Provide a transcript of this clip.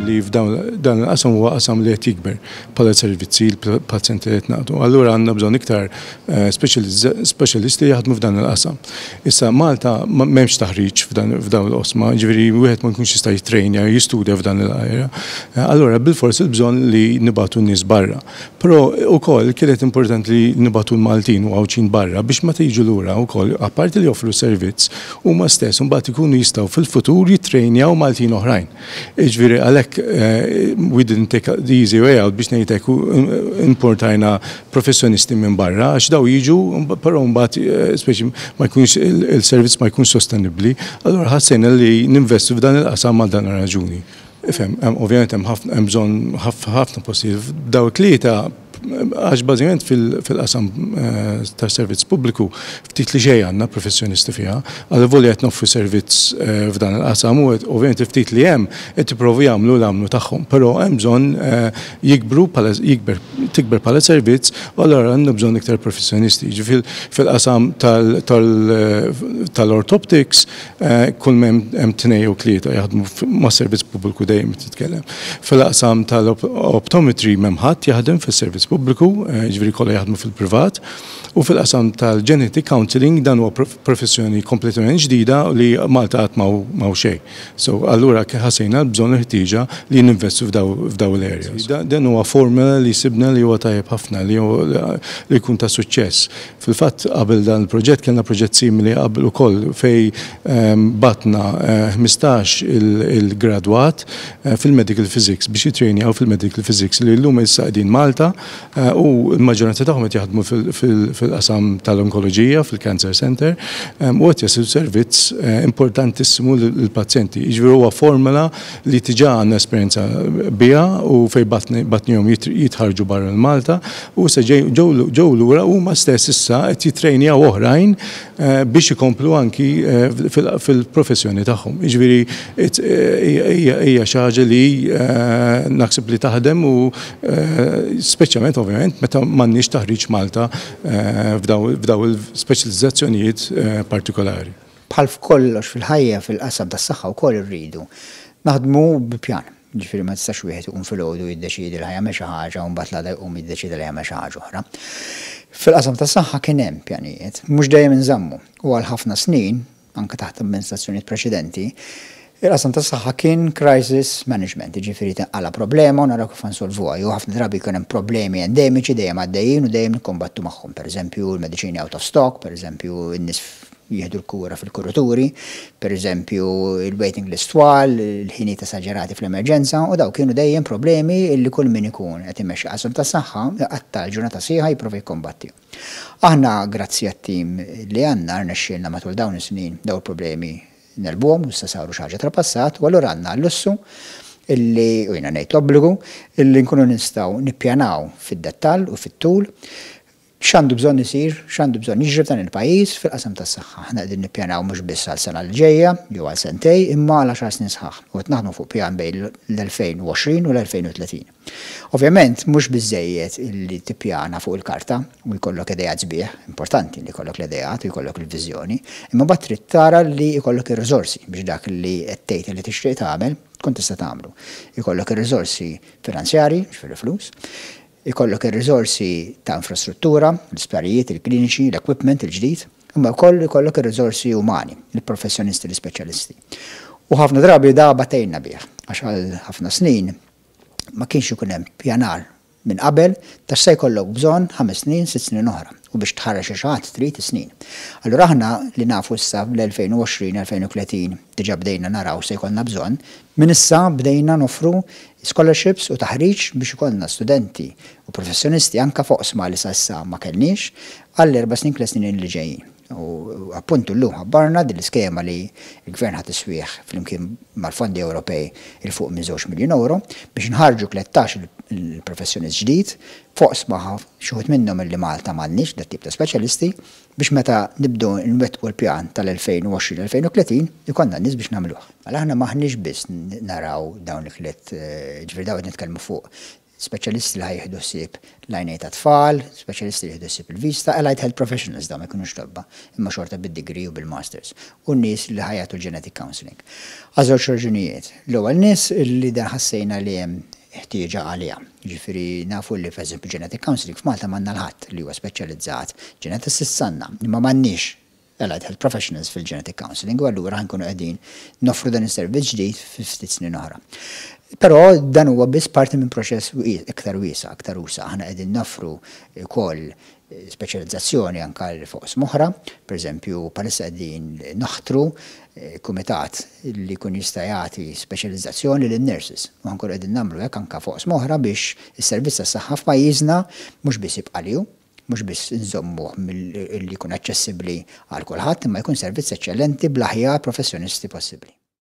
li f'dawn dan il-qasam huwa qasam li qed jikber bħala servizzi l-pazjenti li qed nagħtu. Allura għandna bżonn iktar speċjalisti li jaħdmu f'dan il-qasam. Issa Malta m'hemmx taħriġ f'dawn l-oqsma, jiġifieri wieħed ma jkunx jista' jittrejnja, jistudja f'dan il-area. Allura bilfors il-bżonn li nibagħtu n-nies barra. Però ukoll kienet importanti li nibagħtu l-Maltin u Għawdxin barra biex meta jiġu lura wkoll, apparti li joffru servizz, huma stess imbagħad ikunu jistgħu fil-futur jittrejnjaw Maltin oħrajn. Jiġifieri għalhekk we didn't take the easy way out biex ngħid hekk importajna professjonisti minn barra għax daw jiġu però mbagħad speċi ma jkunx il-servizz ma jkunx sostenibbli. Allura ħassejna li ninvestu f'dan il-qasam għal dan ir-raġuni. Ifhem, ovvjament hemm ħafna hemm bżonn ħafna postijiet. Daw it-tlieta għax bażikament fil-qasam tas-servizz pubbliku ftit li xejn għandna professjonisti fiha. Allavolja qed noffru servizz f'dan il-qasam u ovvjament il-ftit li hemm qed jipprovu jagħmlu l-għamlu tagħhom. Però hemm bżonn jikbru bħala jikber tikber bħala servizz u allura għandna bżonn iktar professjonisti. Jiġifieri fil-qasam tal-orthoptics Kull ma hemm tnejn jew tlieta jaħdmu mas-servizz pubbliku dejjem qed titkellem. Fil-qasam tal-optometry m'hemm ħadd jaħdem fis-servizz pubbliku, jiġifieri kollha jaħdmu fil-privat. U fil-qasam tal-genetic counselling dan huwa professjoni kompletament ġdida li Malta qatt m'hawn xejn. So allura ħassejna l-bżonn il-ħtieġa li ninvestu f'dawn l-areas. Dan huwa formula li sibna li huwa tajjeb ħafna li jkun ta' suċċess. Fil-fatt qabel dan il-proġett kellna proġett simili qabel ukoll fejn bgħatna 15 il-gradwat fil-medical physics biex jittrejnjaw fil-medical physics li llum issa qegħdin Malta u l-maġġoranza tagħhom qed jaħdmu fil-qasam tal-onkoloġija fil-Cancer Centre u qed jagħtu servizz importantissimu lill-pazjenti. Jiġifieri huwa formula li diġà għandna esperjenza biha u fejn bgħatnihom jitħarrġu barra minn Malta u issa ġew lura u huma stess issa qed jittrejnjaw oħrajn biex ikomplu anki fil-professjoni tagħhom. Jiġifieri hija xi ħaġa li naħseb li taħdem u speċjalment ovvjament meta m'għandniex taħriġ Malta f'dawn il-speċjalizzazzjonijiet partikolari. Bħal f'kollox fil-ħajja fil-qasam tas-saħħa wkoll irridu naħdmu bi pjan. Jiġifieri ma tistax wieħed iqum filgħodu jiddeċiedi li ħa jagħmel xi ħaġa u mbagħad l-għada jqum jiddeċiedi li jagħmel xi ħaġa oħra. Fil-qasam tas-saħħa kien hemm pjanijiet, mhux dejjem inżammu u għal ħafna snin, anke taħt amministrazzjonijiet preċedenti, il-qasam tas-saħħa kien crisis management, jiġifieri tinqala' problema u naraw kif ħa nsolvuha jew ħafna drabi jkun hemm problemi endemiċi dejjem għaddejjin u dejjem nikkombattu magħhom, pereżempju l-mediċini out of stock, pereżempju n-nies jieħdu l-kura fil-kuruturi, pereżempju il-waiting list twal, il-ħinijiet esaġerati fl-emerġenza u dawn kienu dejjem problemi li kull min ikun qed imexxi qasam tas-saħħa iqatta' l-ġurnata sħiħa jipprova jikkombatti. Aħna grazzi għat-tim li għandna rnexxielna matul dawn is-snin dawn il-problemi negħlbuhom u issa saru xi ħaġa tal-passat u allura għandna l-lussu illi, u jiena ngħid l-obbligu, illi nkunu nistgħu nippjanaw fid-dettall u fit-tul X'għandu bżonn isir, x'għandu bżonn jiġri f'dan il-pajjiż fil-qasam tas-saħħa. Aħna qegħdin nippjanaw mhux biss għal sena li ġejja jew għal sentejn imma għal għaxar snin sħaħ u qed naħdmu fuq pjan bejn l-2020 u l-2030. Ovvjament mhux biżżejjed illi tippjana fuq il-karta u jkollok ideat sbieħ, importanti li jkollok l-ideat u jkollok il-viżjoni, imma mbagħad trid tara li jkollok ir-riżorsi biex dak li qed tgħid li tixtieq tagħmel tkun tista' tagħmlu. Ikollok ir-riżorsi finanzjarji, jiġifieri flus, Ikollok ir-riżorsi ta' infrastruttura, l-isptarijiet, il-kliniċi, l-equipment il-ġdid, imma wkoll ikollok ir-riżorsi umani, il-professjonisti, l-ispeċjalisti. U ħafna drabi da batejna bih, għax għal ħafna snin ma kienx ikun hemm pjanar minn qabel ta' x'se jkollok bżonn ħames snin, sitt snin oħra. U biex tħarreġ lil xi ħadd trid is-snin. Allura aħna li nafu issa bl-2020, 2030 diġà bdejna naraw x'se jkollna bżonn, minn issa bdejna noffru Scholarships u taħriġ biex ikollna studenti u professjonisti anke f'oqsma li sa issa ma kellniex għall-erba' snin tliet snin li ġejjin. U appuntu llum ħabbarna din l-iskema li l-Gvern ħa tiswieħ flimkien mal-fondi Ewropej 'il fuq minn żewġ miljun ewro biex nħarrġu 13 il-professjonist ġdid f'oqsma xi wħud minnhom illi Malta m'għandniex dat-tip ta' speċjalisti biex meta nibdew nwettqu l-pjan tal-2020-2030 ikollna n-nies biex nagħmluh. Mela aħna m'aħniex biss naraw dawn il-tliet, jiġifieri dawn qed nitkellmu fuq Speċjalisti li ħa jieħdu ħsieb l-għajnejn tat-tfal, speċjalisti li jieħdu ħsieb il-vista, allied health professionals dawn ma jkunux tobba, imma xorta bid-degree u bil-masters, u n-nies li ħa jagħtu l-genetic counselling. Għal żewġ raġunijiet. L-ewwel nies li dan ħassejna li hemm ħtieġa għaliha. Jiġifieri nafu li pereżempju genetic counselling f'Malta m'għandna l-ħadd li huwa speċjalizzat, geneticists għandna, imma m'għandniex allied health professionals fil-genetic counselling u allura ħa nkunu qegħdin noffru dan is-servizz ġdid fi ftit snin oħra. Però dan huwa biss parti minn proċess iktar wiesa', aktar usa'. Aħna qegħdin noffru wkoll speċjalizzazzjoni anke fuq oqsma oħra, pereżempju bħalissa qegħdin naħtru kumitat li jkun jista' jagħti speċjalizzazzjoni lin-nurses. U ħa nkunu qegħdin nagħmlu hekk anke fuq oqsma oħra biex is-servizz tas-saħħa f'pajjiżna mhux biss jibqa' li hu, mhux biss nżommuh li jkun aċċessibbli għal kulħadd, imma jkun servizz eċċellenti bl-aħjar professjonisti possibbli.